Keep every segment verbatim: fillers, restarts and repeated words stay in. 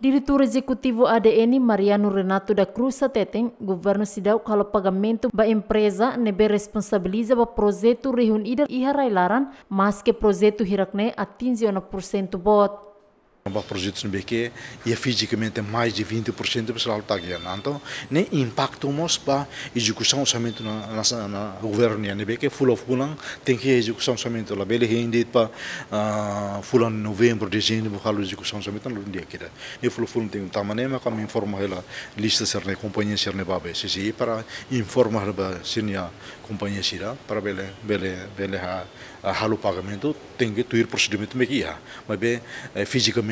Diretór Ezekutivu A D N, Mariano Renato da Cruz, hateten governu seidauk halo pagamentu ba empreza ne'ebé responsabiliza ba projetu rihun ida iha rai-laran, maske projetu hirak-ne'e atinje ona pursentu boot. Ba projetu ne'ebé ke iha fizikamente mais de vinte por cento, pessoal, tagi ona. Entaun ne'e impaktu mós ba ezekusaun orsamentu na, na, na governu nian, ne'ebé ke fulan-fulan tenke ezekusaun orsamentu, labele hein de'it ba, ah, fulan novembru, dezembru halo ezekusaun orsamentu, la di'ak ida. Ne'e fulan-fulan tenke tama ne'e, maka ami informa hela lista sira-ne'e, kompañia sira-ne'e ba, ba C C I para informa hela ba sira-nia kompañia sira para bele, bele, bele ha, ah, halo pagamentu, tenke tuir prosedimentu ne'ebé ke iha. Maibé, eh, fizikamente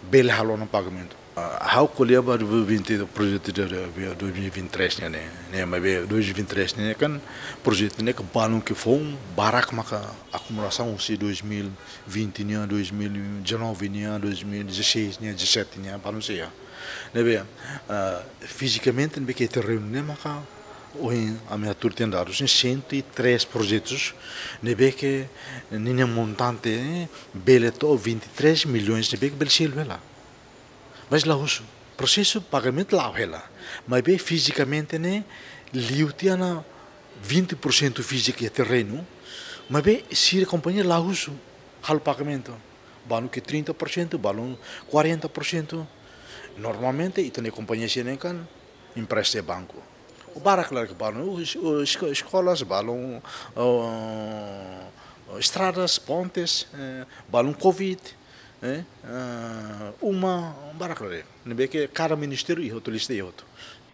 bele halo ona pagamentu. Ah, ha'u ko'alia ba dois mil e vinte, projetu de, de, dois mil e vinte e três nian ne'e, ne'e, maibé dois mil e vinte e três ne'e kan projetu ne'e ke balun ke foun barak maka akumulasaun husi dois mil e vinte nian, dois mil e dezanove nian, dois mil e dezasseis nian, dezassete nian, balun sei iha. Ne'ebé, ah, fizikamente ne'ebé ke terrenu ne'e maka ohin ami hatuur tiha dadus ne'e cento e três projetus ne'ebé ke ninia montante, eh, bele to'o vinte e três milhões ne'ebé ke bele selu hela. Mas la husu. Prosesu pagamentu la'o hela. Maibé fizikamente ne'e liu tiha ona vinte por cento fíziku iha terrenu. Maibé sira kompañia la husu halo pagamentu. Balun ke trinta por cento, balun quarenta por cento. Normalmente ita-nia kompañia sira-ne'e kan empresta banku. Barak klaru ke balun, uh, es-, uh, esko-, eskolas, balun, uh, estradas, pontes, eh, balun covid, eh, ah, uma, barak klaru. Ne'ebé ke kada ministériu iha hotu, lista iha hotu.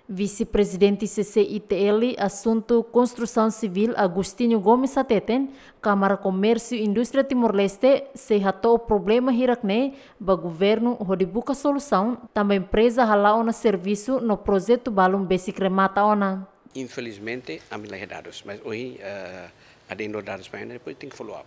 Vise-Prezidente C C I T L Asuntu Konstrusaun Sivíl, Agostinho Gomes, hateten Kámara Komérsiu Indústria Timor-Leste sei hato'o problema hirak-ne'e ba governu hodi buka solusaun, tanba empreza hala'o ona servisu no projetu balun besik remata ona. Infelizmente, ami la iha dadus, mas ohin, eh, ami iha dadus ba ida, depois tenke follow up.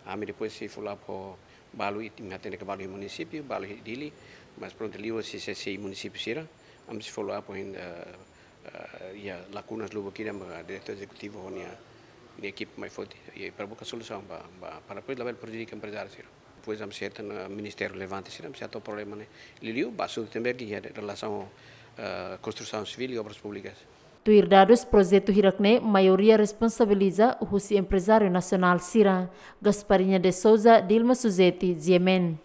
Ami depois sei follow up ho balu, ita hatene ke balu iha munisípiu, balu iha Dili, mas prontu liuhusi C C I munisípiu sira, ami sei follow up ho, eh, eh, iha lakunas lubuk ida, ba diretór ezekutivu ho nia, nia ekipa mai foti, i para buka solusaun ba, ba, para depois labele prejudika emprezáriu sira. Depois ami sei hatene ministériu relevante sira, ami sei hato'o problema ne'e. Liuliu ba asuntu ne'ebé ke iha relasaun, eh, konstrusaun sivíl i obras públikas. Tuir dadus, projetu hirak-ne'e maioria responsabiliza husi emprezáriu nasionál sira. Gasparinha de Souza, Dilma Suzeti, G M N.